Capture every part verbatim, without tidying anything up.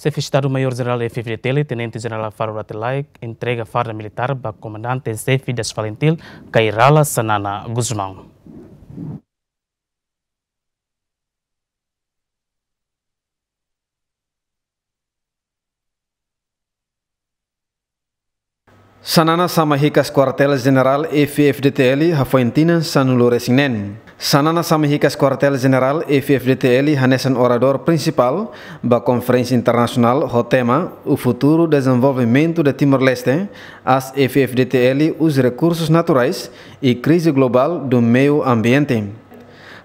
Xefe Estadu Maiór Jenerál F-FDTL, Tenente Jenerál Falur Rate Laek, entrega farda militár ba Komandante Xefe das FALINTIL, Kay Rala Xanana Gusmão. Xanana sama hikas Kuartél Jenerál F-FDTL hafoin tinan sanulu-resin-neen. Xanana sama hikas Kuartél Jenerál F-FDTL hanesan oradór prinsipál ba Konferénsia Internasionál ho tema O Futuro Desenvolvimento de Timor-Leste, as F-FDTL, os Recursos Naturais e Crise Global do Meio Ambiente.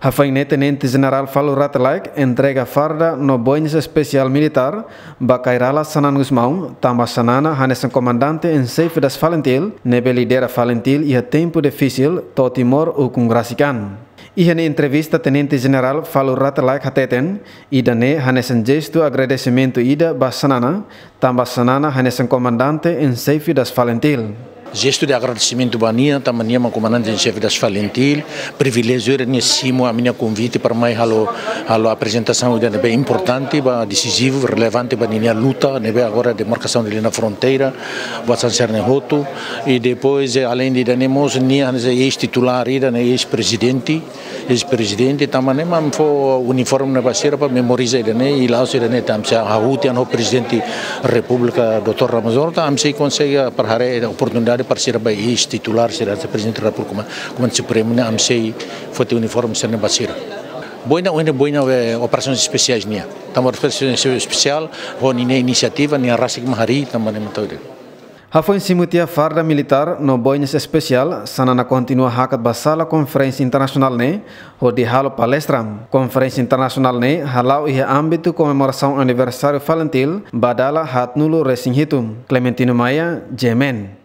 Hafoin ne'e Tenente Jenerál Falur Rate Laek entrega farda no boinas espesiál militár ba Kay Rala Xanana Gusmão, tanba Xanana hanesan Comandante em Chefe das FALINTIL, ne'ebé lidera FALINTIL iha tempu difisil to'o Timor ukun rasik an. Iha nia entrevista Tenente Jenerál Falur Rate Laek hateten, ida-ne'e hanesan jestu agradesimentu ida ba Xanana, tanba Xanana hanesan Comandante em Chefe das FALINTIL. Jestu de agradesimentu ba nia, tanba nia mak Comandante em Chefe das FALINTIL, priviléjiu ida nia simu ami-nia konvite para mai halo, halo aprezentasaun ida ne'ebé importante, ba desizivu, relevante ba ninia luta, ne'ebé agora demarkasaun de linha fronteira, ba hanesan sira-ne'e hotu, i depois, eh, aleinde ida-ne'e mós, nia hanesan eis-titulár ida, ne'e eis-prezidente, eis-prezidente, tanba ne'e mak ami fó uniforme ne'e ba sira para memoriza ida-ne'e, i la'ós ida-ne'e tanba sira hahú tiha ona ho Prezidente Repúblika doutór Ramos Horta, ami sei konsege para haree oportunidade para sira ba eis-titulár, sira hanesan Prezidente Repúblika, Komandante Supremu ne'e, ami sei foti uniforme sira-ne'e ba sira. Boina, ohin ne'e boina, eh, operasaun espesiál nian. Tanba operasaun espesiál, ho ninia inisiativa, nia rasik mak harii, tanba ne'e mak tau ida. Hafoin simu tiha farda militár no boinas espesiál, Xanana kontinua hakat ba sala konferénsia internasionál ne'e, hodi halo palestra. Konferénsia internasionál ne'e hala'o iha ámbitu komemorasaun aniversáriu FALINTIL ba dala haatnulu-resin-hitu. Clementino Maia, G M N.